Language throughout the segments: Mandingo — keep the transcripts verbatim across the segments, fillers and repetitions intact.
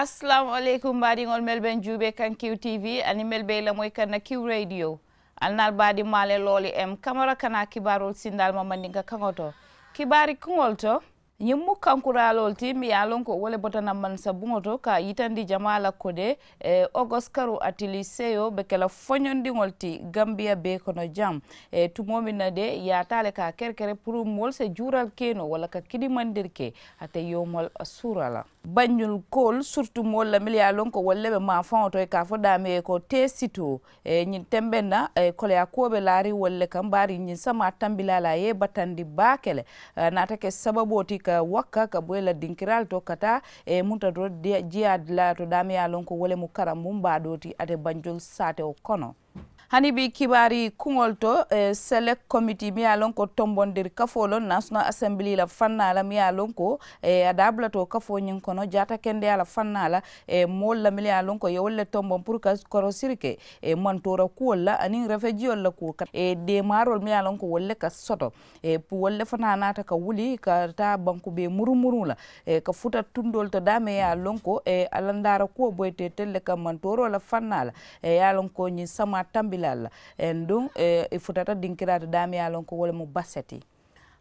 Asalaamu aleykum baadiŋolu melu be n juubee kaŋ kiw tv aniŋ melu be i lamoyi kaŋ na kiw radio. Ali naalu baadiŋ maale looli m kamara kana kibaaroolu sindaali ma mandinka kaŋo to. Kibaari kuŋolu to, ñiŋ mu kankuraaloolu ti miŋ ye a loŋ ko wo le bota na mansa buŋo to ka yitandi jamaa la kode. Ogoskaru atiliseyo be ke la foñondiŋolu ti gambiya bee kono jaŋ. Tumoo miŋ na de i ye a taa le ka a kerekere puru moolu se juural ke noo walla ka kidimandiri ke ate yoomol suura la. Banjulkoolu siritu moolu la mili ye a loŋ ko wolu le be maafaŋo to i ka a fo daamee ko tee sitoo. Ñiŋ tembeŋ na koleyaa kuwo be laariŋ wolu le kaŋ baari ñiŋ samaa tambilaa la a ye i batandi baake le. Naata ke sababoo ti ka wakka ka bo i la dinkiraalu to ka taa munta to jiyaa dulaa to daamee ye a loŋ ko wo le mu karambuŋ baa doo ti ate banjul saatewo kono. Hani bii kibaari kuŋolu to selek komiti miŋ ye a loŋ ko tombondiri kafoo loŋ national assembili la fannaa la miŋ ye a loŋ ko a daabulatoo kafoo ñiŋ kono jaata kendeyaa la fannaa la. Moolu la miŋ ye a loŋ ko ye wolu le tomboŋ puru ka korosiri ke mantoora kuwolu la aniŋ refejiyolu la kuwo ka deemaaroolu miŋ ye a loŋ ko wolu le ka soto. Wolu le fanaa naata ka wuli ka taa banku bee murumuruŋ la ka futa tundoolu to daamee ye a loŋ ko alandaara kuwo boyite telu le ka mantooroo la fannaa la. Ye a loŋ ko ñiŋ samaa tambilaalu la aduŋ i futata dinkiraa to daamee ye a loŋ ko wo le mu basa ti.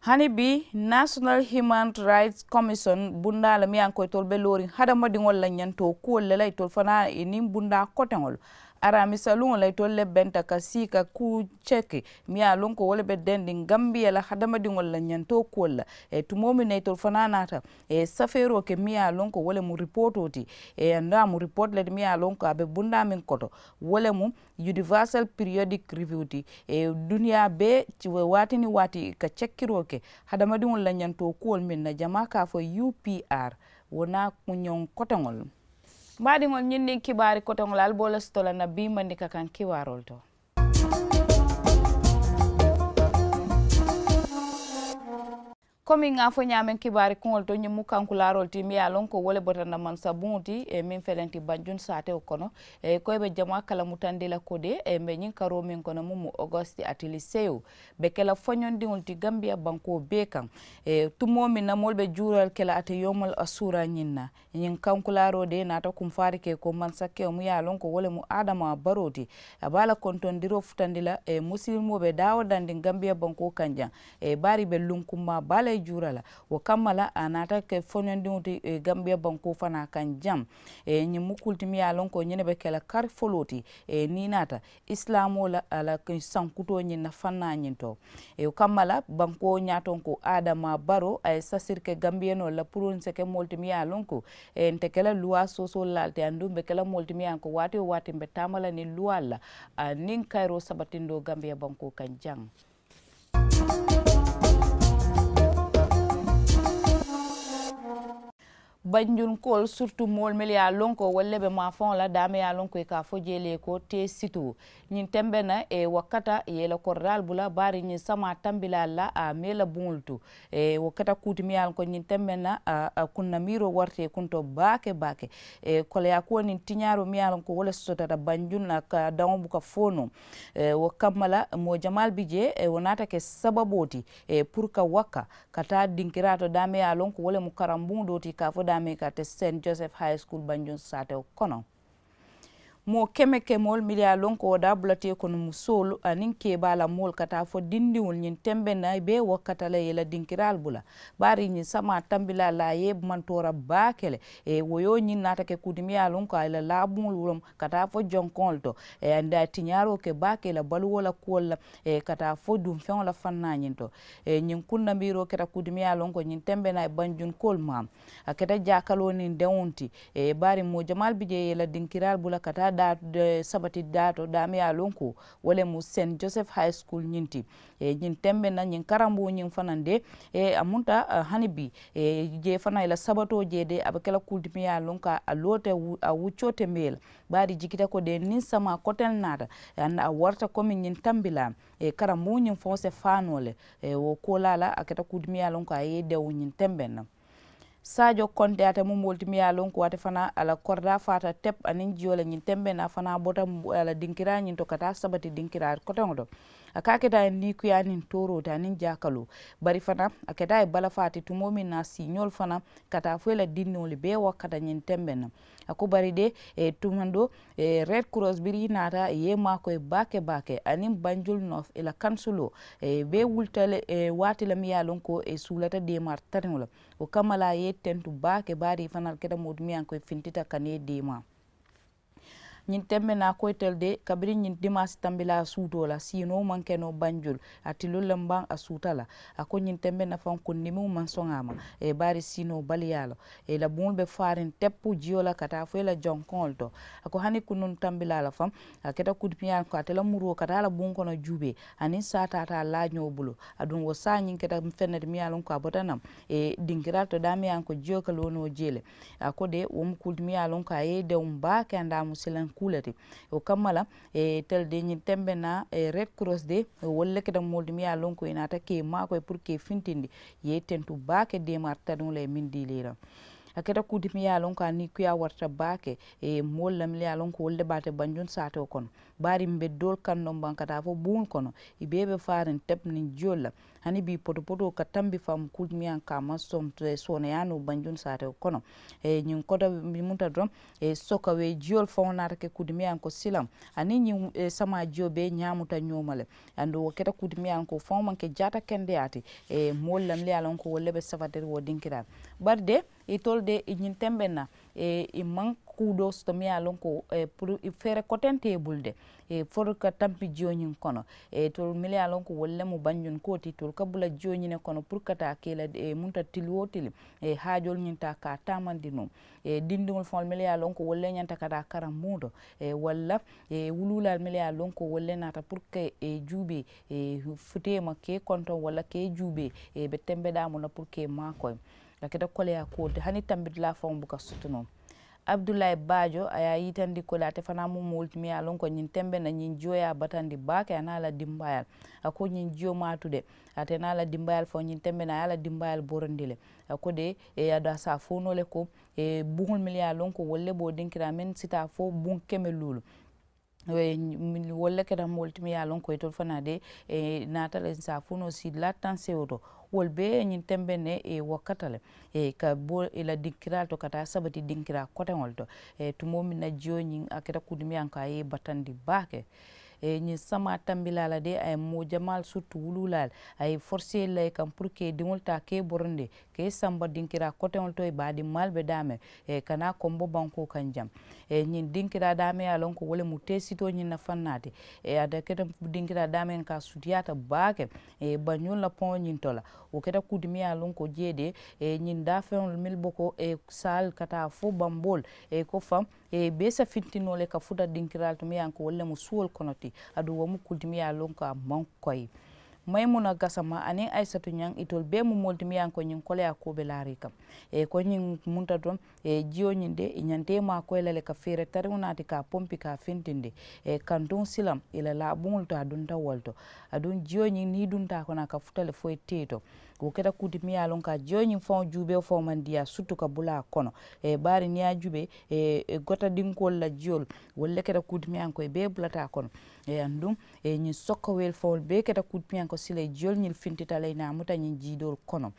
Hani bii national human rights commission bundaa le miŋ ye a loŋ ko itolu be looriŋ hadamadiŋolu la ñantoo kuwolu le la itolu fanaa i niŋ bundaa koteŋolu. Araamisa luŋo la itolu le benta ka sii ka kuu ceki miŋ ye a loŋ ko wo le be dendiŋ gambiya la hadamadiŋolu la ñantoo kuwolu la. Tumoo miŋ na itolu fanaa naata safeeroo ke miŋ ye a loŋ ko wo le mu ripootoo ti. Anduŋ a mu ripooti le ti miŋ ye a loŋ ko a be bundaa meŋ koto wo le mu universal periodic review ti. Duniyaa bee waati niŋ waati i ka cekkiroo ke hadamadiŋolu la ñantoo kuwolu meŋ na jamaa ka a fo upr wo naa ñoŋ koteŋolu. Baadiŋolu ñiŋ niŋ kibaari koteŋolu ali be wo le soto la na bii mandika kaŋ kibaaroolu to. Komi ŋa a fo ñaameŋ kibaari kuŋolu to ñiŋ mu kankulaaroolu ti miŋ ye a loŋ ko wo le bota na mansa buŋo ti meŋ felenti banjun saatewo kono. Ko i be jamaa kalamutandi la kode mbe ñiŋ karoo meŋ kono muŋ mu ogosti atiliseyo be ke la foñondiŋolu ti gambiya bankoo bee kaŋ. Tumoo meŋ na moolu be juural ke la ate yoomol a suura ñiŋ na. Ñiŋ kankulaaroo de naata kumfaari ke ko mansakewo mu ye a loŋ ko wo le mu adama baroo ti. A be a la kontondiroo futandi la musilimoo be daawo dandiŋ gambiya bankoo kaŋ jaŋ. Bari i be luŋ kummaa baa le juura la. Wo kamma la a naata ke foñondiŋo ti gambiya bankoo fanaa kaŋ jaŋ. Ñiŋ mu kulu ti mu ye a loŋ ko ñiŋ ne be ke la kari foloo ti. Niŋ i naata isilaamoo la a la sankutoo ñiŋ na fannaa ñiŋ to. Wo kamma la bankoo ñaatonko adama baro a ye sasiri ke gambiyenoolu la puru n se ke moolu ti miŋ ye a loŋ ko nte ke la luwaa soosoolu la le ti aduŋ mbe ke la moolu ti miŋ ye a loŋ ko waati wo waati mbe taama la niŋ luwaalu la. Aniŋ kayiroo sabatindoo gambiya bankoo kaŋ jaŋ. Banjunkoolu siritu moolu mennu ye a loŋ ko wolu le be maafaŋo la daameŋ ye a loŋ ko i ka a fo jee le ko tee situu. Ñiŋ tembeŋ na i ye wakkata i ye i la koridaalu bula bari ñiŋ samaa tambilaalu la a mee la buŋolu to. Wo keta kuu ti miŋ ye a loŋ ko ñiŋ tembeŋ na a kunnamiiroo warata i kunto baake baake. Koleyaa kuwo niŋ tiñaaroo miŋ ye a loŋ ko wo le sotota banjun na ka daŋo buka fo noo. Wo kamma la moo jamaalu bi jee wo naata ke sababoo ti puru ka wakka ka taa dinkiraa to daameŋ ye a loŋ ko wo le mu karambuŋo doo ti ka a fo daameŋ ka a te sent joseph high school banjun saatewo kono. Moo keme kemoolu mennu ye a loŋ ko wo daabulata i kono musoolu aniŋ keebaa la moolu ka taa fo dindiŋolu ñiŋ tembeŋ na i bee wakkata la i ye i la dinkiraalu bula. Bari ñiŋ samaa tambilaa la a ye mantoora baake le. Wo yoo ñiŋ naata ke kuu ti miŋ ye a loŋ ko a ye i la laabuŋolu woloŋ ka taa fo jonkoŋolu to. Anduŋ a ye tiñaaroo ke baake i la baluwo la kuwolu la ka taa fo duŋ feŋo la fannaa ñiŋ to. Ñiŋ kunnamiiroo keta kuu ti miŋ ye a loŋ ko ñiŋ tembeŋ na a ye banjunkoolu maamu. A keta jaakaloo niŋ deŋo ti. Bari moo jamaalu bi jee i ye i la dinkiraalu bula ka taa daa sabati daa to daameŋ ye a loŋ ko wo le mu sent joseph high school ñiŋ ti. Ñiŋ tembeŋ na ñiŋ karambuŋo ñiŋ fanaŋ de a munta hani bii. Jee fanaa i la sabatoo jee de a be ke la kuu ti miŋ ye a loŋ ko a loota a wuccoo te mee la. Bari jikita ko de niŋ samaa koteŋ naata a warata komi ñiŋ tambilaa. Karambuŋo ñiŋ faŋo se faa noo le. Wo koolaa la a keta kuu ti miŋ ye a loŋ ko a ye i dewo ñiŋ tembeŋ na. Saajo konte ate mu moolu ti miŋ ye a loŋ ko ate fanaa a la koridaa faata tep aniŋ jiyoo le ñiŋ tembeŋ na a fanaa bota a la dinkiraa ñiŋ to ka taa sabati dinkiraa koteŋo to. A ka a keta a ye niikuyaa niŋ tooroo ti aniŋ jaakaloo. Bari fanaa a keta a ye balafaa ti tumoo meŋ na a siiñoolu fanaa ka taa fo i la dindiŋolu bee wakkata ñiŋ tembeŋ na. A ko bari de, tumandoo, red cross biriŋ i naata i ye i maakoyi baake baake aniŋ banjul north i la kansuloo, i bee wulita le waati la miŋ ye a loŋ ko i suulata deemaari tariŋo la. Wo kamma la a ye i tentu baake baari i fanaa le keta moo ti miŋ ye a loŋ ko i fintita ka niŋ i deemaa. Ñiŋ tembe naa koyitelu de kabiriŋ ñiŋ dimaasi tambilaa suutoo la siinoo maŋ ke noo banjul. A tilolu le mbaŋ a suuta la. A ko ñiŋ tembe nafaŋ kundimiŋo maŋ soŋ a ma. Ì ye baari siinoo baliyaa la. Ì la buŋolu be faariŋ teppu jiyo la ka taa fo i la jonkoŋolu to. A ko hani kunuŋ tambilaa la faŋ, a keta kuuti miŋ ye a loŋ ko ate la muruo ka taa la buŋ kono juubee aniŋ saa taata a laa ñoo bulu. Aduŋ wo saa ñiŋ keta feŋ ne ti miŋ ye a loŋ ko a bota naŋ dinkiraalu to daameŋ ye a loŋ ko jiyo ka loo noo jee le. A ko de wo mu kuu le ti miŋ ye a loŋ ko a ye i dewuŋ baake andaa mu silaŋ kuu le ti. Wo kamma la, itelu de ñiŋ tembe naa red cross de wolu le keta moolu ti miŋ ye a loŋ ko i naata ka i maakoyi puru ka i fintindi. I ye i tentu baake deemaari tariŋo la i ye meŋ dii la i la. A keta kuu ti miŋ ye a loŋ ko a niikuyaa warata baake. Moolu la miŋ ye a loŋ ko wolu le be a te banjuŋ saatoo kono. Baari mbe doolu kaŋ noŋ baŋ ka taa fo buŋolu kono. I bee be faariŋ tepu niŋ jiyolu la. Hani bii potopotoo ka tambi faŋ kuu ti miŋ ye a loŋ ko a maŋ sooneyaa noo banjuŋ saatoo kono. Ñiŋ koto munta doroŋ, sokawee jiyolu faŋo naata ke kuu ti miŋ ye a loŋ ko silaŋ aniŋ ñiŋ samaa jiyo bee ñaamuta ñooma le. Aduŋ wo keta kuu ti miŋ ye a loŋ ko faŋo maŋ ke jaata kendeyaa ti moolu la miŋ ye a loŋ ko wolu le be sabatiri wo dinkiraa. Bari de itolu de i ñiŋ tembe naa i maŋ kuu doo soto miŋ ye a loŋ ko puru i feere koteŋ te i bulu de. Fo ka tampi jiyo ñiŋ kono itolu miŋ ye a loŋ ko wolu le mu banjuŋ kuwo ti itolu ka bula jiyo ñiŋ ne kono puru ka taa ke i la munta tili wo tili. Haajoolu ñiŋ taa ka a taamandi noo. Dindiŋolu faŋolu miŋ ye a loŋ ko wolu le ñanta ka taa karambuŋo to. Walla wuluulaalu miŋ ye a loŋ ko wolu le naata puru ka juubee futeema ka i kontoŋ walla ka i juubee i be tembe daamu la puru ka i maakoyi. A keta koleyaa kuwo le ti hani tambidulaa faŋo buka soto noo. Abudulaayi baajo a ye a yitandi ko le ate fanaa mu moo le ti miŋ ye a loŋ ko ñiŋ tembe na ñiŋ jiyo ye a batandi baake a niŋ a la dimbaayaalu. A ko ñiŋ jiyo maŋ a tu de. Ate niŋ a la dimbaayaalu faŋo ñiŋ tembe na a ye a la dimbaayaalu borondi le. A ko de aduŋ a si a fo noo le ko buŋolu miŋ ye a loŋ ko wolu le be wo dinkiraa meŋ si taa fo buŋ keme luulu. Wolu le keta moolu ti miŋ ye a loŋ ko itolu fanaa de naata le saafunoo si laa taŋ sewo to. Wolu bee ye ñiŋ tembe ne wakkata le ka bo i la dinkiraalu to ka taa sabati dinkiraa koteŋolu to. Tumoo meŋ na jiyo ñiŋ a keta kuu ti miŋ ye a loŋ ko a ye i batandi baake. Ñiŋ samaa tambilaa la de a ye moo jamaalu suttu wuluulaalu a ye i forosee la i kaŋ puru ka i diŋolu taa ka i borondi ka i samba dinkiraa koteŋolu to i baadimmaalu be daameŋ. Ka naa kombo bankoo kaŋ jaŋ ñiŋ dinkiraa daameŋ ye a loŋ ko wo le mu teesitoo ñiŋ na faŋ naati. A te keta dinkiraa daameŋ ka a sutiyaata baake. Banjuŋ la poŋo ñiŋ to la wo keta kuu ti miŋ ye a loŋ ko jee de ñiŋ daafeŋolu mili boko saalu ka taa fo bamboolu ko faŋ bee sa fintinoo le ka futa dinkiraalu ti miŋ ye a loŋ ko wolu le mu suwolu kono ti. Aduŋ wo mu kuu ti miŋ ye a loŋ ko a maŋ koyi. Mayimuna gasama aniŋ ayisatu ñaŋ itolu bee mu moolu ti miŋ ye a loŋ ko ñiŋ koleyaa kuwo be laariŋ i kaŋ. Ko ñiŋ munta doroŋ jiyo ñiŋ de i ñanta i maakoyi la le ka feere tariŋo naati ka a pompi ka a fintindi. Kantuŋ silaŋ i la laabuŋolu to a dunta wo le to. Aduŋ jiyo ñiŋ niŋ i dunta a kono a ka futa le fo i teyi to. Wo keta kuu ti miŋ ye a loŋ ko a jiyo ñiŋ faŋo juubee faŋo maŋ diyaa sutu ka bula a kono. Baari niŋ i ye a juubee gotadinkoolu la jiyoolu wolu le keta kuu ti miŋ ye a loŋ ko i bee bulata a kono. Aduŋ ñiŋ sokowelu faŋolu bee keta kuu ti miŋ ye a loŋ ko silayi jiyoolu ñiŋ fintita le i naa muta ñiŋ jiidoolu kono.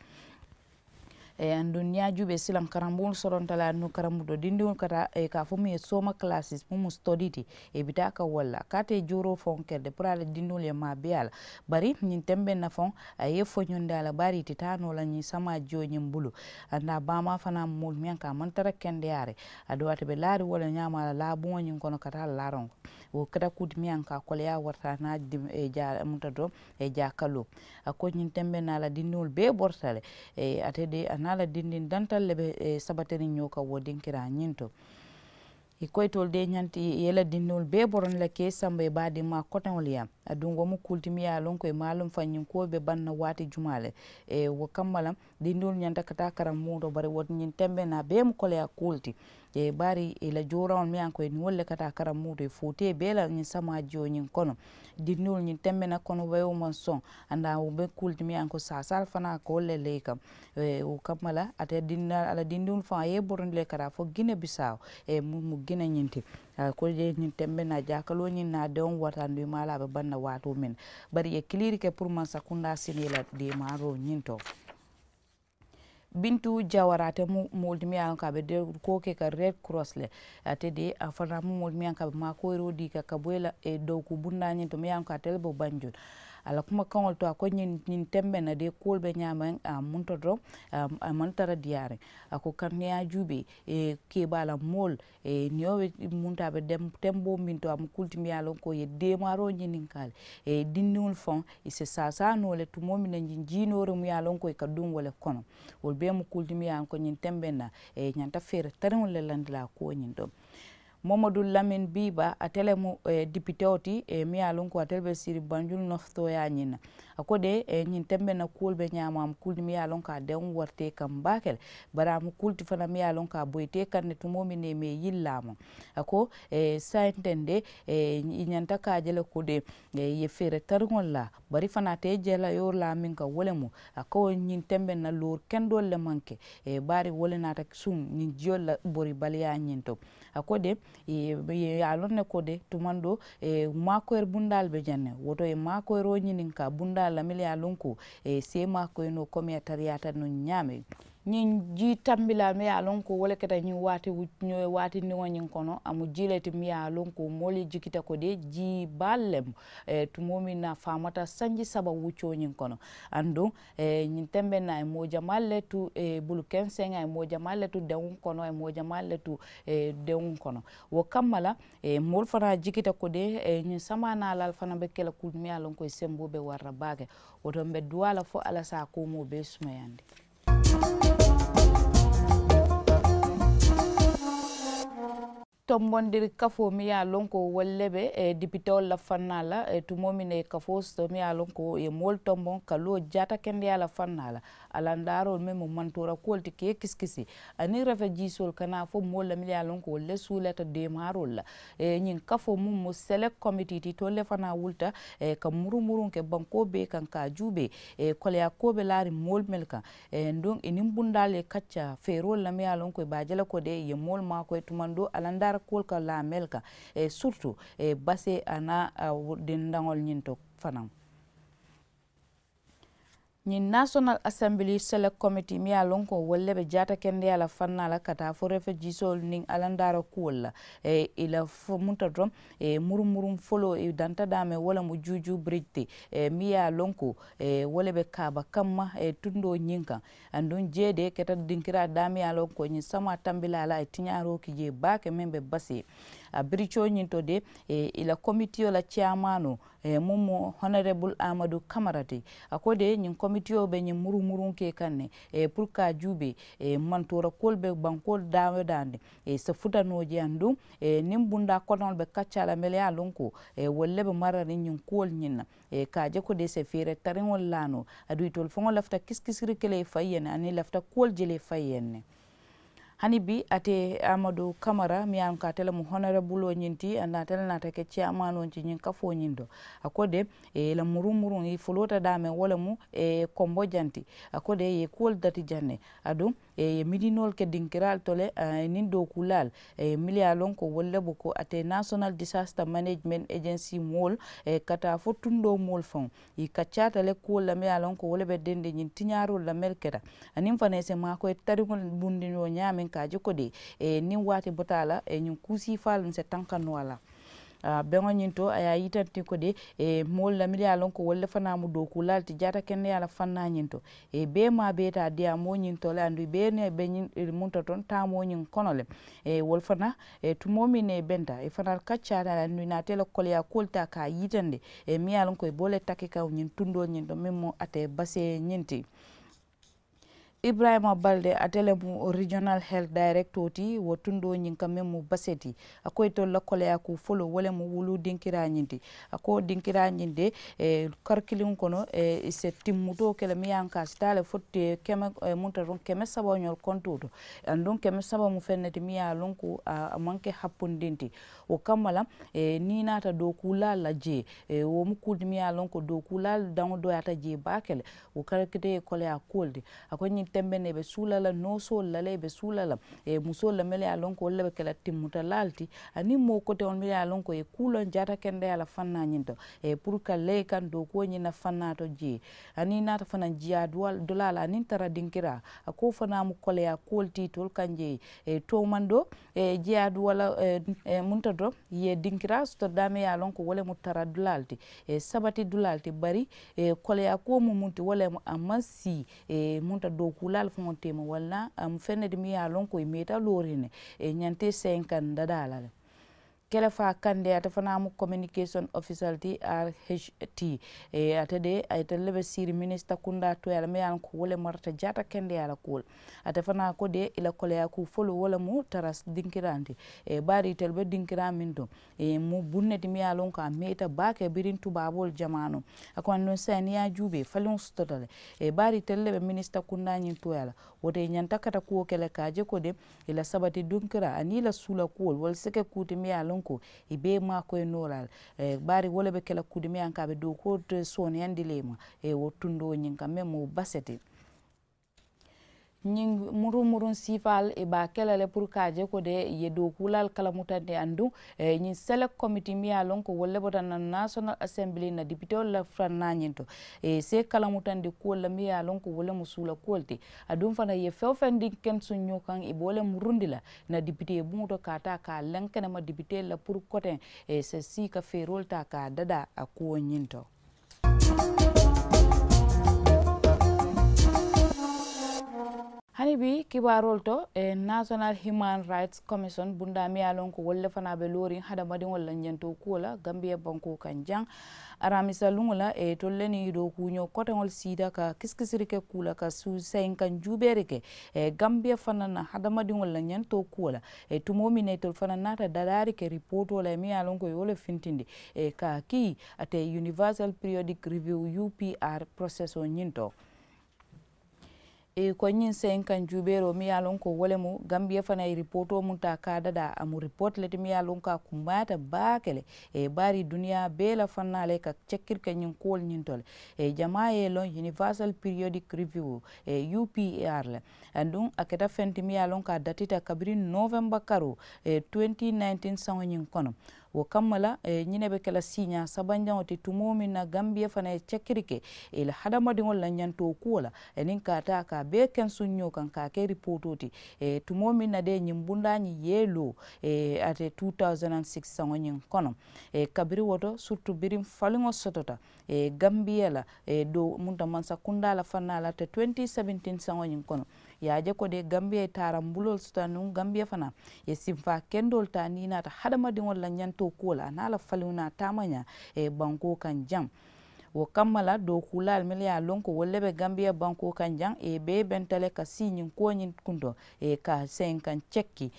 Aduŋ niŋ i ye a juubee silaŋ karambuŋolu soronta le aduŋ karambuto dindiŋolu ka taa ka a fo muŋ ye sooma kalaasis muŋ mu sitodii ti. I bi taa ka wo le la a ka a te jooroo faŋo ke le de puru a la dindiŋolu ye maabeeyaa la. Bari ñiŋ tembeŋ na faŋo a ye i foñondi a la baari i ti taa noo la ñiŋ samaa jiyo ñiŋ bulu. Andaa baamaa fanaa mu moolu miŋ ye a loŋ ko a maŋ tara kendeyaariŋ. Aduŋ ate be laariŋ wo le ñaama a la laabuŋo ñiŋ kono ka taa a la laaraŋo kono. Wo keta kuu ti miŋ ye a loŋ ko a koleyaa warata a niŋ a jaa munta doroŋ. Jaakaloo a ko ñiŋ tembeŋ na a la dindiŋolu bee borita le. Ate de a niŋ a la dindiŋ dantalu le be sabatiriŋ ñoo kaŋ wo dinkiraa ñiŋ to. I ko itolu de ñanta i ye i la dindiŋolu bee borondi le ka i samba i baadimmaa koteŋolu ye. Aduŋ wo mu kuu le ti miŋ ye a loŋ ko i maŋ a loŋ faŋ ñiŋ kuwo be baŋ na waati jumaa le. Wo kamma la dindiŋolu ñanta ka taa karambuŋo to bari wo ñiŋ tembeŋ na a bee mu koleyaa kuu le ti. Bari i la jooraŋolu miŋ ye a loŋ ko i niŋ wolu le ka taa karaŋ muuto i footee bee la ñiŋ samaajiyo ñiŋ kono. Dindiŋolu ñiŋ tembe na kono bayoo maŋ soŋ. Andaa wo be kuulu ti miŋ ye a loŋ ko saasaal fanaa ka wolu le laa i kaŋ. Wo kamma la ate dindiŋolu a la dindiŋolu faŋ a ye i borondi le ka taa fo gine bisaawo. Mu mu gine ñiŋ ti. A ko je ñiŋ tembe na jaakaloo ñiŋ na a deŋo warata aduŋ i maŋ a la a be baŋ na waatoo meŋ na. Bari i ye kiliiri ke puru mansa kundaa si naa i la deemaaroo ñiŋ to. Bintu jawara ate mu moolu ti miŋ ye a loŋ ko a be koo ke ka red cross le. Ate de a fanaa mu moolu ti miŋ ye a loŋ ko a be maakoyiroo dii ka ka bo i la dooku bundaa ñiŋ to miŋ ye a loŋ ko ate le be banjul. A la kumakaŋolu to a ko ñiŋ ñiŋ tembe na de kuwolu be ñaamaŋ a munta doroŋ. A maŋ tara diyaariŋ. A ko kaŋ niŋ ye a juubee kebaa la moolu niyo be munta a be temboo miŋ to a mu kulu ti miŋ ye a loŋ ko i ye deemaaroo ñininkaa le. Dindiŋolu faŋo i si saasaa noo le tumoo miŋ na ñiŋ jiinooriŋ muŋ ye a loŋ ko i ka duŋ wo le kono. Wolu bee mu kulu ti miŋ ye a loŋ ko ñiŋ tembe na i ñanta feere tariŋolu le landi la a kuwo ñiŋ to. Mohamadu lamin biiba ate le mu dipitewo ti miŋ ye a loŋ ko ate le be siri banjulu nofitooyaa ñiŋ na. A ko de ñiŋ tembe na kuwolu be ñaama a mu kulu ti miŋ ye a loŋ ko a deŋ warata i kaŋ baake le. Bari a mu kulu ti fanaa miŋ ye a loŋ ko a boyita i kaŋ ne tumoo miŋ na i maŋ i yillaa maŋ. A ko saayiŋ teŋ de i ñanta ka a je le ko de i ye feere tariŋolu la. Bari fanaa te i je la yoori la a meŋ ka wo le mu a ko ñiŋ tembe na loori kendoolu le maŋ ke. Bari wo le naata suŋ ñiŋ jiyoolu la boribaliyaa ñiŋ to. A ko de i ye a loŋ ne ko de tumandoo maakoyiri bundaalu be jaŋ ne wo to i ye maakoyiroo ñininkaa bundaalu la mennu ye a loŋ ko i si i maakoyi noo komi a tariyaata nuŋ ñaameŋ. Ñiŋ jii tambilaa mennu ye a loŋ ko wo le keta ñiŋ waati waati ndiŋo ñiŋ kono a mu jii le ti mennu ye a loŋ ko moolu ye jikita ko de jii baalu le mu. Tumoo miŋ na a faamata sanji saba wuccoo ñiŋ kono aduŋ ñiŋ tembe na a ye moo jamaalu le tu bulu kenseŋ a ye moo jamaalu le tu dewuŋ kono a ye moo jamaalu le tu dewuŋ kono. Wo kamma la moolu fanaa jikita ko de ñiŋ samaa naalaalu fanaa be ke la kulu mennu ye a loŋ ko i semboo be wara la baake. Wo to mbe duwaa la fo alla si a koomoo bee sumayandi. Tombondiri kafoo miŋ ye a loŋ ko wolu le be dipitewolu la fannaa la tumoo miŋ na i ye kafoo soto miŋ ye a loŋ ko i ye moolu tomboŋ ka loo jaatakendeyaa la fannaa la. Alandaaroolu meŋ mu mantoora kuwolu ti ka i kisikisi aniŋ refejiisoolu ka naa fo moolu la mennu ye a loŋ ko wolu le suulata deemaaroolu la. Ñiŋ kafoo muŋ mu selek komitii ti itolu le fanaa wulita ka murumuruŋ ke bankoo bee kaŋ ka a juubee. Koleyaa kuwo be laariŋ moolu mennu kaŋ. Aduŋ i niŋ bundaalu ye kaccaa feeroolu la mennu ye a loŋ ko i be a je la ko de i ye moolu maakoyi tumandoo alandaara kuwolu ka laa mennu kaŋ. Siritu basee aniŋ a dindaŋolu ñiŋ to fanaa. Ñiŋ naasonal asambilii selek komitii mennu ye a loŋ ko wolu le be jaatakendeyaa la fannaa la ka taa fo refejiisoolu niŋ alandaara kuwolu la. I la fo munta doroŋ murumuruŋ foloo i danta daameŋ wo le mu juujuu biriji ti mennu ye a loŋ ko wo le be kaaba kamma tundoo ñiŋ kaŋ. Aduŋ jee de keta dinkiraa daameŋ ye a loŋ ko ñiŋ samaa tambilaa la a ye tiñaaroo ki jee baake meŋ be basee a biricoo ñiŋ to de. I la komitiyo la ceyamaanoo muŋ mu honorebulu amadu kamara ti. A ko de ñiŋ komitiyo be ñiŋ murumuruŋ ke kaŋ ne puru ka a juubee mantoora kuwolu be bankoolu daawo daandi. I si futa noo je aduŋ niŋ bundaa kotoŋolu be kaccaa la mennu ye a loŋ ko wolu le be marariŋ ñiŋ kuwolu ñiŋ na. Ka a je ko de i si feere tariŋolu laa noo aduŋ itolu faŋo lafita kisikisiri ke le i faŋ ye ne aniŋ i lafita kuwolu je le i faŋ ye ne. Hani bii ate amadu kamara miŋ ye a loŋ ko ate le mu honorabuloo ñiŋ ti aduŋ ate le naata ke ceyamaanoo ti ñiŋ kafoo ñiŋ to. A ko de i la murumuruŋ i fuloota daameŋ wo le mu kombo jaŋ ti. A ko de i ye kuwolu dati jaŋ ne aduŋ i ye midinoolu ke dinkiraalu to le niŋ dookuulaalu. Mennu ye a loŋ ko wolu le buko ate nasonal disasta manejimenti ejensi moolu ka taa fo tundoo moolu faŋo. I kaccaata le kuwolu la mennu ye a loŋ ko wo le be dendeŋ ñiŋ tiñaaroolu la mennu keta aniŋ fanaa i si maakoyi tariŋolu bundiŋ wo ñaameŋ ka a je ko de niŋ waati bota a la ñiŋ kuusiifaalu n si tanka noo a la. Beŋo ñiŋ to a ye a yitandi ko de moolu la mennu ye a loŋ ko wolu le fanaa mu dookuulaalu ti jaatakendeyaa la fannaa ñiŋ to. Bee maa bee taa diyaamoo ñiŋ to le aduŋ i bee ne be ñiŋ munta toŋ taamoo ñiŋ kono le. Wolu fanaa tumoo miŋ ne i benta i fanaa kaccaata le aduŋ i naata i la koleyaa kuwolu taa ka a yitandi. Miŋ ye a loŋ ko i be wo le taki kaŋ ñiŋ tundoo ñiŋ to meŋ mu ate basee ñiŋ ti. Ibrahima balde ate le mu regional health director ti wo tundoo ñiŋ ka meŋ mu base ti. A ko itolu la koleyaa kuu foloo wo le mu wuluu dinkiraa ñiŋ ti. A ko dinkiraa ñiŋ de, karikiliŋo kono i si timmutoo ke le miŋ ye a loŋ ko a si taa le fo keme, munta doroŋ keme saba ñolu kontoo to. Aduŋ keme saba mu feŋ ne ti miŋ ye a loŋ ko a maŋ ke happundiŋ ti. Wo kamma la, niŋ i naata dookuulaalu la jee, wo mu kuu ti miŋ ye a loŋ ko dookuulaalu daŋo dooyaata jee baake le. Wo karikitee ye koleyaa kuwo le ti. A ko ñiŋ tembe ne i be suula la noosoolu la le i be suula la, musoolu la mennu ye a loŋ ko wolu le be ke la timmutalaalu ti, aniŋ moo koteŋolu mennu ye a loŋ ko i ye kuu loŋ jaata kendeyaa la fannaa ñiŋ to, puru ka laa i kaŋ dookuwo ñiŋ na fannaa to jee. Aniŋ i naata fanaŋ jiyaa dulaa la aniŋ tara dinkiraa, a ko wo fanaa mu koleyaa kuwo le ti itolu kaŋ jee. Toomandoo, jiyaa duwaa la, munta doroŋ i ye dinkiraa soto daameŋ ye a loŋ ko wo le mu tara dulaa le ti, sabati dulaa le ti bari, koleyaa kuwo mu muŋ ti wo le mu a maŋ sii, munta dookuulaalu faŋo teema walla a mu feŋ ne ti miŋ ye a loŋ ko i meeta looriŋ ne, ñanta i seyiŋ kaŋ dadaa la le. Kelefaa kande ate fanaa mu communication official ti rht. Ate de a itelu le be siiri minisita kundaa toyaa la meŋ ye a loŋ ko wo le marata jaata kendeyaa la kuwo le. Ate fanaa ko de i la koleyaa kuu foloo wo le mu tara dinkiraa ti. Bari itelu be dinkiraa meŋ to, mu buŋ ne ti meŋ ye a loŋ ko a meeta baake biriŋ tubaaboolu jamaanoo. A ko aduŋ saayiŋ niŋ i ye a juubee faliŋo sotota le. Bari itelu le be minisita kundaa ñiŋ toyaa la. Wo to i ñanta kata kuwo ke le ka a je ko de i la sabati dinkiraa aniŋ i la suula kuwolu wolu si ke kuu ti meŋ ye a loŋ ko i bee maakoyi noo la le. Bari wo le be ke la kuu ti meŋ ye a loŋ ko a be dookuwo to sooneyandi le i ma, wo tundoo ñiŋ kaŋ meŋ mu base ti. Ñiŋ muruŋ muruŋ siifaalu i be a ke la le puru ka a je ko de i ye dookuulaalu kalamutandi aduŋ ñiŋ select committee meŋ ye a loŋ ko wolu le bota naŋ national assembly na dipiteolu la fannaa ñiŋ to, i si i kalamutandi kuwolu la meŋ ye a loŋ ko wo le mu suula kuwo le ti. Aduŋ fanaa i ye feŋ-wo-feŋ diŋ kensuŋ ñoo kaŋ i be wo le murundi la na dipitee buŋo to ka a taa ka a leŋ kenema dipiteelu la puru koteŋ i si sii ka feeroolu taa ka a dadaa a kuwo ñiŋ to. Hani bii kibaaroolu to, national human rights commission bundaa meŋ ye a loŋ ko wolu le fanaa be looriŋ hadamadiŋolu la ñantoo kuwo la gambiya bankoo kaŋ jaŋ. Aramisa luŋo la itolu le niŋ i dookuuñoo koteŋolu siita ka kisikisiri ke kuu la ka suusayiŋ kaŋ juubeeri ke gambiya fanaa na hadamadiŋolu la ñantoo kuwo la. Tumoo meŋ na itolu fanaa naata dadaari ke ripootoo la meŋ ye a loŋ ko i wo le fintindi ka a kii ate universal periodic review upr processoo ñiŋ to. I ko ñiŋ seyiŋ kaŋ juubeeroo meŋ ye a loŋ ko wo le mu gambiya fanaa ye ripootoo muŋ taa ka a dadaa a mu ripooti le ti meŋ ye a loŋ ko a kumbayaata baake le. Bari duniyaa bee la fannaa le ka cekkiri ke ñiŋ kuwolu ñiŋ to le. Jamaa ye i loŋ universal periodic review upr le. Aduŋ a keta feŋ ti meŋ ye a loŋ ko a datita kabiriŋ novemba karoo twenty nineteen saŋo ñiŋ kono. Wo kamma la ñiŋ ne be ke la siiñaa sabanjaŋo ti tumoo meŋ na gambiya fanaa ye cekiri ke i la hadamadiŋolu la ñantoo kuwo la aniŋ ka a taa ka a bee kensuŋ ñoo kaŋ ka a ke ripootoo ti. Tumoo meŋ na de ñiŋ bundaa ñiŋ ye i loo ate two thousand and six saŋo ñiŋ kono. Kabiriŋ wo to siritu biriŋ faliŋo sotota gambiya la do munta mansa kundaa la fannaa la ate twenty seventeen saŋo ñiŋ kono. Ye a je ko de gambiya ye taaraŋ buloolu soto aduŋ gambiya fanaa ye simfaa kendoolu taa niŋ i naata hadamadiŋolu la ñantoo kuwo la a niŋ a la faliŋo niŋ a taamañaa bankoo kaŋ jaŋ. Wo kamma la dookuulaalu mennu ye a loŋ ko wolu le be gambiya bankoo kaŋ jaŋ i bee benta le ka sii ñiŋ kuwo ñiŋ kunto ka seyiŋ kaŋ cekki.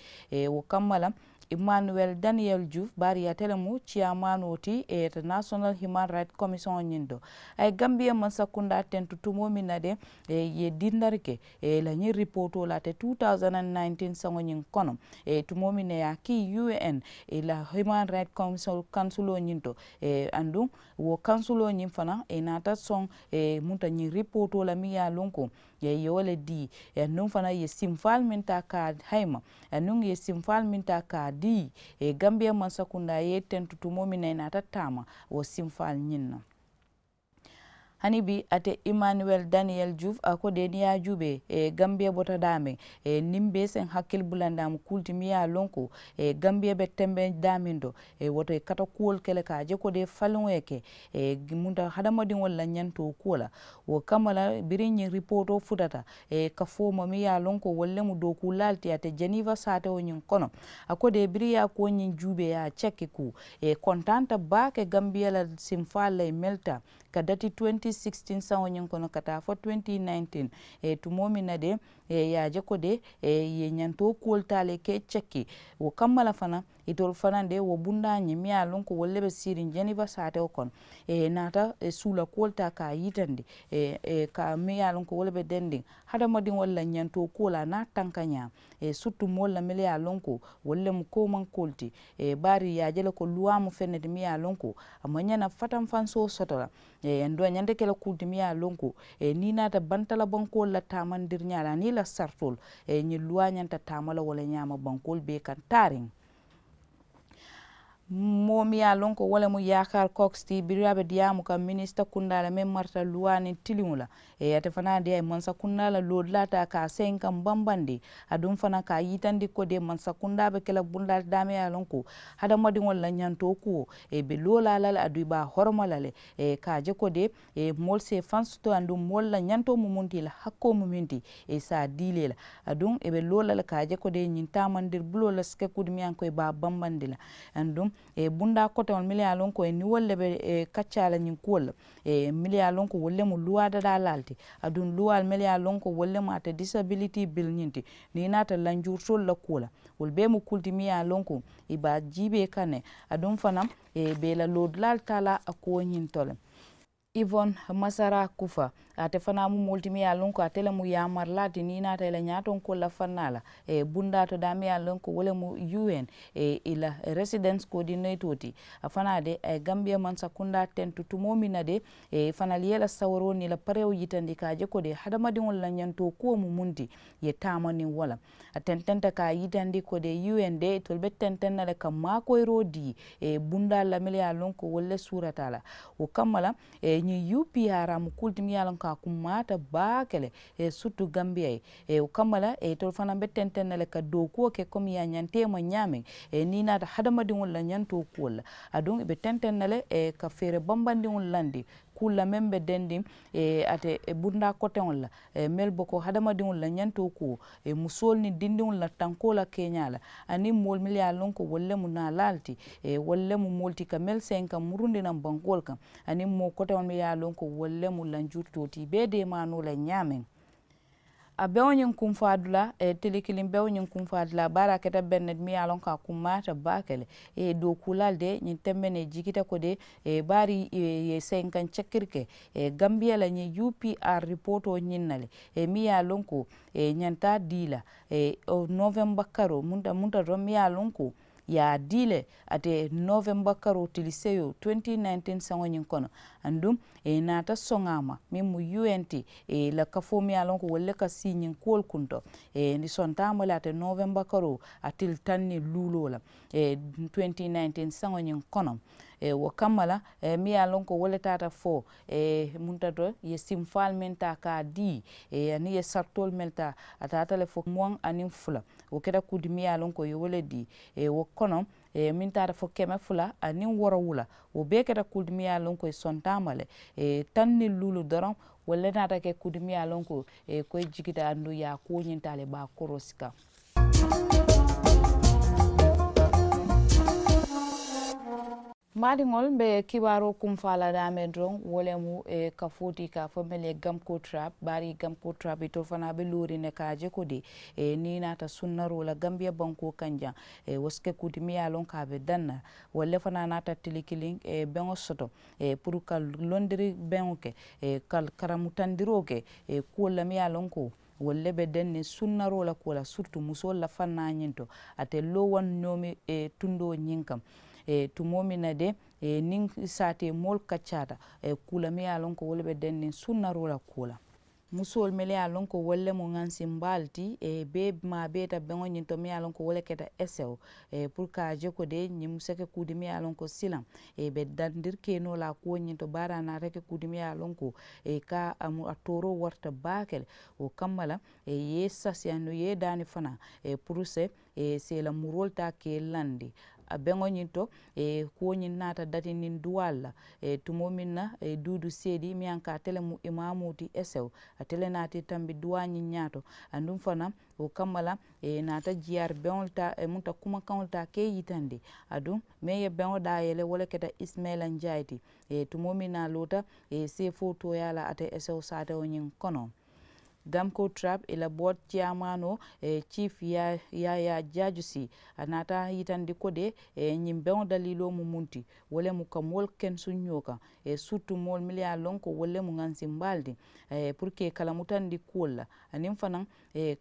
Wo kamma la emmanuel daniyel juuf bari ate le mu ciyamaanoo ti international human rights commission ñiŋ to. A ye gambiya mansa kundaa tentu tumoo meŋ na de ye dindari ke i la ñiŋ ripootoo la ate two thousand and nineteen saŋo ñiŋ kono. Tumoo meŋ na ye a kii un i la human rights council kansuloo ñiŋ to. Aduŋ wo kansuloo ñiŋ fanaŋ i naata soŋ munta ñiŋ ripootoo la meŋ ye a loŋ ko ye wo le dii. Aduŋ fanaŋ ye simfaalu meŋ taa ka a hayima aduŋ ye simfaalu meŋ taa ka a dii. Gambiya mansa kundaa ye tentu tumoo meŋ na i naata taama wo simfaalu ñiŋ na. Hani bi ate emmanuel daniyel juuf a ko de niŋ ye a juubee gambiya bota daameŋ niŋ be seŋ hakkili bulandi a mu kuu le ti meŋ ye a loŋ ko gambiya be tembe daameŋ to. Wo to i kata kuwolu ke le ka a je ko de faliŋo ye ke munta hadamadiŋolu la ñantoo kuwo la. Wo kamma la biriŋ ñiŋ ripootoo futata ka fo ma meŋ ye a loŋ ko wolu le mu dookuulaalu ti ate jeniifa saatewo ñiŋ kono. A ko de biriŋ ye a ko ñiŋ juubee ye a cekki kuu kontaanta baake gambiya la simfaalu la i melita ka dati twenty sixteen saŋo ñiŋ kono ka taa fo twenty nineteen, tumoo miŋ na de, ye a je ko de, ye ñantoo kuwolu taa le ka i cekki. Wo kamma la fanaŋ, itolu fanaŋ de wo bundaa ñiŋ miŋ ye a loŋ ko wolu le be siiriŋ jeniva saatewo kono, naata suula kuwolu taa ka a yitandi, ka miŋ ye a loŋ ko wo le be dendiŋ hadamadiŋolu la ñantoo kuwo la a niŋ a tankañaa, siritu moolu la mennu ye a loŋ ko wolu le mu koomankoolu ti. Bari i ye a je le ko luwaa mu feŋ ne ti miŋ ye a loŋ ko a maŋ ñaŋ na fatanfansoo soto la. Aduŋ a ñanta ke la kuu ti miŋ ye a loŋ ko niŋ i naata bantala bankoolu la taamandiriñaa la aniŋ i la saritoolu, ñiŋ luwaa ñanta taama la wo le ñaama bankoolu bee kaŋ taariŋ. Moo miŋ ye a loŋ ko wo le mu yaakaari koks ti biriŋ a be diyaamu kaŋ minisita kundaa la meŋ marata luwaa niŋ tiliŋo la. Ate fanaa de a ye mansa kundaa la loodulaa taa ka a seyiŋ kaŋ bambandi. Aduŋ fanaa ka a yitandi ko de mansa kundaa be ke la bundaa ti daameŋ ye a loŋ ko hadamadiŋolu la ñantoo kuwo be loolaa la le aduŋ i be a horoma la le. Ka a je ko de moolu si i faŋ soto aduŋ moolu la ñantoo mu muŋ ti i la hakkoo mu muŋ ti, i si a dii le la. Aduŋ i be loo la le ka a je ko de ñiŋ taamandiri buloo la si ke kuu ti miŋ ye a loŋ ko i be a bambandi la. Aduŋ bundaa koteŋolu mennu ye a loŋ ko i niŋ wolu le be kaccaa la ñiŋ kuwolu la, mennu ye a loŋ ko wolu le mu luwaa dadaa laalu ti. Aduŋ luwaalu mennu ye a loŋ ko wolu le mu ate disabiliti bili ñiŋ ti, niŋ i naata lanjurutoolu la kuwo la, wolu bee mu kuu le ti miŋ ye a loŋ ko i be a jiibee kaŋ ne. Aduŋ fanaa i be i la loodulaalu taa la a kuwo ñiŋ to le. Ivon masara kufa, ate fanaa mu moo le ti miŋ ye a loŋ ko ate le mu yaamarilaa ti niŋ i naata i la ñaatonkoolu la fannaa la, bundaa to daameŋ ye a loŋ ko wo le mu un, i la residence koodinetoo ti. A fanaa de a ye gambiya mansa kundaa tentu tumoo miŋ na de, i fanaa le ye i la sawaroo niŋ i la parewo yitandi ka a je ko de hadamadiŋolu la ñantoo kuwo mu muŋ ti, i ye taama niŋ wo la. A tententa ka a yitandi ko de un de itolu be tenteŋ na le ka maakoyiroo dii bundaalu la mennu ye a loŋ ko wolu le suurata a la. Wo kamma la ñiŋ upr mu kuu le ti miŋ ye a loŋ ko a kummaata baake le, siritu gambiya ye. Wo kamma la itolu fanaa be tenteŋ na le ka dookuwo ke komi i ye a ñanta i ma ñaameŋ, niŋ i naata hadamadiŋolu la ñantoo kuwolu la. Aduŋ i be tenteŋ na le ka feere bambandiŋolu landi kuulu la meŋ be dendiŋ ate bundaa koteŋolu la, mennu be ko hadamadiŋolu la ñantoo kuwo, musoolu niŋ dindiŋolu la tankoo la keeñaa la, aniŋ moolu mennu ye a loŋ ko wolu le mu naalaalu ti, wolu le mu moolu ti ka mennu seyiŋ ka murundi naŋ bankoolu kaŋ, aniŋ moo koteŋolu mennu ye a loŋ ko wolu le mu lanjurutoo ti i be i deemaa noo la ñaameŋ. A beŋo ñiŋ kunfaadulaa, tili kiliŋ beŋo ñiŋ kunfaadulaa bari a keta beŋ ne ti miŋ ye a loŋ ko a kummaata baake le. Dookuulaalu de ñiŋ tembe ne jikita ko de, bari i ye seyinkaŋ cekiri ke gambiya la ñiŋ upr ripootoo ñiŋ na le, miŋ ye a loŋ ko i ñanta a dii la novemba karoo munta munta to miŋ ye a loŋ ko i ye a dii le ate novemba karoo tili seyoo twenty nineteen saŋo ñiŋ kono. Aduŋ i naata soŋ a ma meŋ mu un ti, i la kafoo miŋ ye a loŋ ko wolu le ka sii ñiŋ kuwolu kunto. I sonta a ma le ate novemba karoo a tili taŋ niŋ luuloo la twenty nineteen saŋo ñiŋ kono. Wo kamma la miŋ ye a loŋ ko wo le taata fo munta to i ye simfaalu meŋ taa ka a dii, aniŋ i ye saritoolu meŋ taa a taata le fo muwaŋ aniŋ fula. Wo keta kuu ti miŋ ye a loŋ ko i ye wo le dii wo kono, meŋ taata fo keme fula aniŋ woorowula. Wo bee keta kuu ti miŋ ye a loŋ ko i sonta a ma le taŋ niŋ luulu doroŋ. Wolu le naata ke kuu ti miŋ ye a loŋ ko i ko i jikita aduŋ i ye a kuwo ñiŋ taa le i be a koroosi kaŋ. Maadiŋolu be kibaaroo kunfaa la daameŋ doroŋ wo le mu kafoo ti ka a fo mennu ye gamkoo trap bari gamkoo trap itolu fanaa be looriŋ ne ka a je ko de niŋ i naata sunnaroo la gambiya bankoo kaŋ jaŋ, wo si ke kuu ti miŋ ye a loŋ ko a be daŋ na. Wolu le fanaa naata tili kiliŋ beŋo soto puru ka londiri beŋo ke, ka karamutandiroo ke kuwolu la miŋ ye a loŋ ko wolu le be denniŋ sunnaroo la kuwo la siritu musoolu la fannaa ñiŋ to. Ate loowaŋ noomi tundoo ñiŋ kaŋ tumoo miŋ na de niŋ saatee moolu kaccaata kuu la miŋ ye a loŋ ko wo le be denniŋ sunnaroo la kuwo la. Musoolu mennu ye a loŋ ko wolu le mu ŋansimbaalu ti bee maa beeta beŋo ñiŋ to miŋ ye a loŋ ko wo le keta esewo puru ka a je ko de ñiŋ mu se ke kuu ti miŋ ye a loŋ ko silaŋ be dandiri keenoo la a kuwo ñiŋ to baari a naata ke kuu ti miŋ ye a loŋ ko ka a mu a tooroo warata baake le. Wo kamma la i ye i sasiyaandi i ye i daani fanaa puru se i si i la muroolu taa ka i landi. a beŋo ñiŋ to, kuwo ñiŋ naata datindiŋ duwaalu la. Tumoo meŋ na duudu seedi miŋ ye a loŋ ko ate le mu imaamoo ti esewo, ate le naata i tambi duwaa ñiŋ ñaa to. Aduŋ fanaa wo kamma la, i naata jiyaari beŋolu taa, i munta kumakaŋolu taa ka i yitandi. Aduŋ meŋ ye beŋo daa yele wo le keta isimayila njaayi ti. Tumoo meŋ na a loota seefoo tooyaa la ate esewo saatewo ñiŋ kono. Gamko trap i la boot ciyamaanoo, ciif yaayaa jaajusi, a naata yitandi ko de ñiŋ beŋo daliiloo mu muŋ ti. Wo le mu ka moolu kensuŋ ñoo kaŋ, siritu moolu mennu ye a loŋ ko wolu le mu ŋansimbaalu ti, puru ka i kalamutandi kuwolu la. Aniŋ fanaa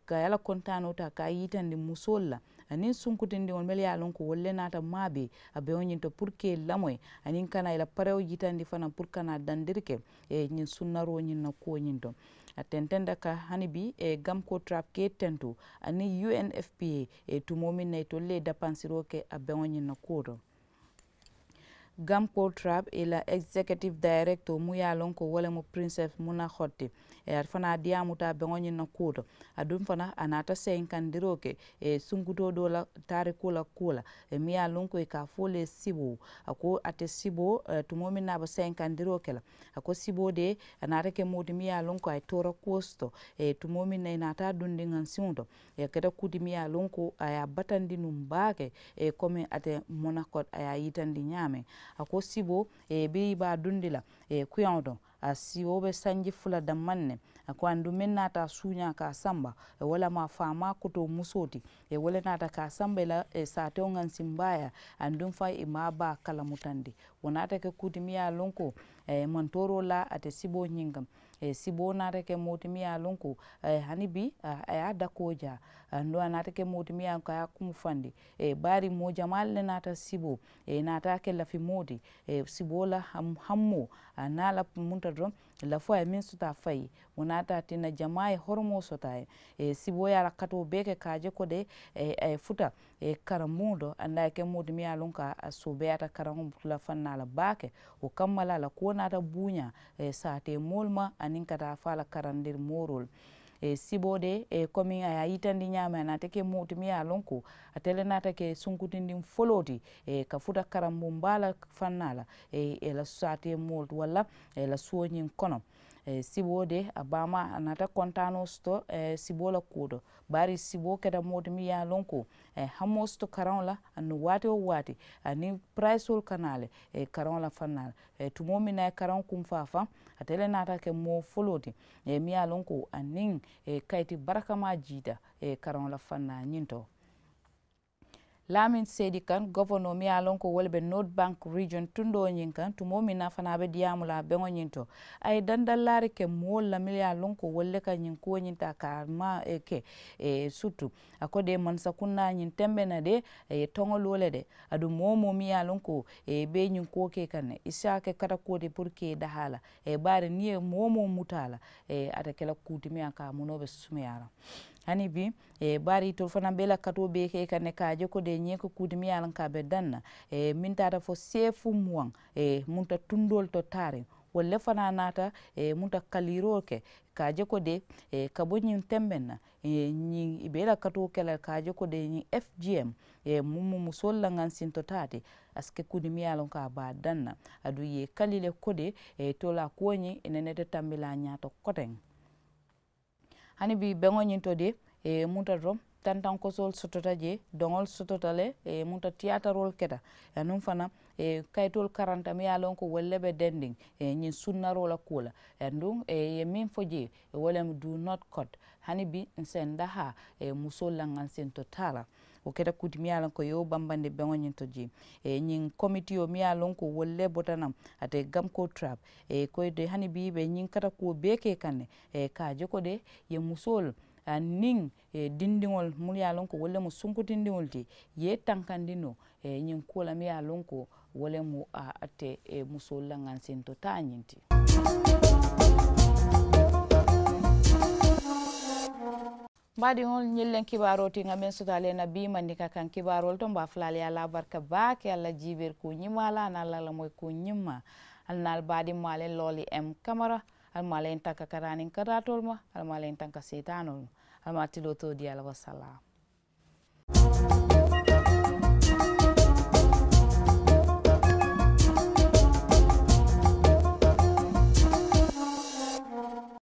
ka i la kontaanoo taa ka a yitandi musoolu la, aniŋ sunkutindiŋolu mennu ye a loŋ ko wolu le naata maabee a beŋo ñiŋ to puru ka i lamoyi, aniŋ ka naa i la parewo yitandi fanaa puru ka naa dandiri ke ñiŋ sunnaroo ñiŋ na kuwo ñiŋ to. A tententa ka hani bii gamko trap ka i tentu aniŋ u n f p a tumoo meŋ na itolu le ye dapansiroo ke a beŋo ñiŋ na kuwo to. Gamko trap i la executive director mu ye a loŋ ko wo le mu princess muna hot ti. Ate fanaa diyaamuta a beŋo ñiŋ na kuwo to. Aduŋ fanaa a naata seyinkandiroo ke sunkutoo doo la taarikoo la kuwo la, meŋ ye a loŋ ko i ka a fo le siboo. A ko ate siboo, tumoo meŋ na a be seyinkandiroo ke la, a ko siboo de a naata ke moo ti meŋ ye a loŋ ko a ye toora kuwo soto. Tumoo meŋ na i naata a dundi ŋansiŋo to, a keta kuu ti meŋ ye a loŋ ko a ye a batandi nuŋ baake. Komi ate monakot a ye a yitandi ñaameŋ, a ko siboo biriŋ i be a dundi la kuyaŋo to, a siwo be sanji fula dammaŋ ne. A ko aduŋ meŋ naata a suuñaa ka a samba, wo le mu a faamaa kotoo musoo ti. Wo le naata ka a samba i la saatewo ŋansimbaayaa, aduŋ faŋ i maŋ a baa kalamutandi. Wo naata ke kuu ti meŋ ye a loŋ ko maŋ tooroo laa ate siboo ñiŋ kaŋ. Siboo naata ke moo ti meŋ ye a loŋ ko hani bii a ye a dakoo jaa. Aduŋ a naata ke moo ti meŋ ye a loŋ ko a ye a kumu fandi. Bari moo jamaalu le naata siboo, i naata a ke lafi moo ti. Siboo la hammoo a naa la munta doroŋ, lafoo a ye meŋ soto a fayi. Wo naata a tinna jamaa ye horomoo soto a ye. Siboo ye a la katoo bee ke ka a je ko de a ye futa karambuŋo to, aduŋ a ye ke moo ti meŋ ye a loŋ ko a soobeeyaata karaŋo la fannaa la baake. Wo kamma la a la kuwo naata buuñaa saatee moolu ma aniŋ ka taa fo a la karandiri mooroolu. Siboo de komi a ye a yitandi ñaameŋ a naata ke moo ti meŋ ye a loŋ ko ate le naata ke sunkutindiŋ foloo ti ka futa karambuŋ baa la fannaa la, i la saatee moolu walla i la suwo ñiŋ kono. Siboo de a baamaa a naata kontaanoo soto siboo la kuwo to. Bari siboo keta moo ti meŋ ye a loŋ ko a ye hamoo soto karaŋo la aduŋ waati woo waati aniŋ purayisoolu ka naa le karaŋo la fannaa la. Tumoo meŋ na a ye karaŋo kuŋ faafaŋ, ate le naata ke moo foloo ti meŋ ye a loŋ ko aniŋ kayiti barakamaa jiita karaŋo la fannaa ñiŋ to. Laamin seedi kaŋ gofonoo meŋ ye a loŋ ko wo le be north bank region tundoo ñiŋ kaŋ tumoo meŋ na fanaa be diyaamu la a beŋo ñiŋ to. A ye dandallaari ke moolu la mennu ye a loŋ ko wolu le ka ñiŋ kuwo ñiŋ taa ka a maa ke. Sutu a ko de mansakunnaa ñiŋ tembe na de a ye toŋo loo le de. Aduŋ moo-wo-moo meŋ ye a loŋ ko i be ñiŋ kuwo ke i kaŋ ne i si a ke katakuwo ti puru ka i dahaa la. Bari niŋ i ye moo-wo-moo muta a la, ate ke la kuu ti meŋ ye a ka a munoo be sumeyaa la. Hani bii bari itolu fanaa be i la katoo bee ke i kaŋ ne ka a je ko de ñiŋ ye ke kuu ti meŋ ye a loŋ ka a be daŋ na meŋ taata fo seefu muwaŋ munta tundoolu to taariŋ. Wolu le fanaa naata munta kaliiroo ke ka a je ko de ka bo ñiŋ tembeŋ na ñiŋ i be i la katoo ke la ka a je ko de ñiŋ f g m muŋ mu musoolu la ŋansinto taa ti. A si ke kuu ti meŋ ye a loŋ ko a be a daŋ na. Aduŋ i ye i kali le ko de toola kuwo ñiŋ i nene te tambi la a ñaato koteŋ. Hani bii beŋo ñiŋ to de munta to tantankosoolu sotota jee doŋolu sotota le munta tiyaataroolu keta. Aduŋ fanaa kayitoolu karanta meŋ ye a loŋ ko wolu le be dendiŋ ñiŋ sunnaroo la kuwo la. Aduŋ i ye meŋ fo jee wo le mu do not cut. Hani bii n se n dahaa musoolu la ŋansinto taa la. Wo keta kuu ti meŋ ye a loŋ ko i ye wo bambandi beŋo ñiŋ to jee ñiŋ komitiyo meŋ ye a loŋ ko wolu le bota naŋ ate gamko trap. Ko de hani bii i be ñiŋ katakuwo bee ke i kaŋ ne ka a je ko de i ye musoolu aniŋ dindiŋolu munnu ye a loŋ ko wolu le mu sunkutindiŋolu ti i ye i tankandi noo ñiŋ kuwo la meŋ ye a loŋ ko wo le mu ate musoolu la ŋansinto taa ñiŋ ti. Mbaadiŋolu ñiŋ leŋ kibaaroo ti ŋa meŋ soto ali ye na bii mandinka kaŋ kibaaroolu to mba fulaalu ye a la barika baake ali la jiibeeri kuu ñimmaa la aniŋ ali la lamoyi kuu ñimmaa. Ali na ali baadiŋ maa leŋ looli m kamara. Ali maa leŋ tanka karaaniŋ karaatoolu ma. Ali maa leŋ tanka seetaanoolu ma. Ali maa tiloo too dii ali wasalaam.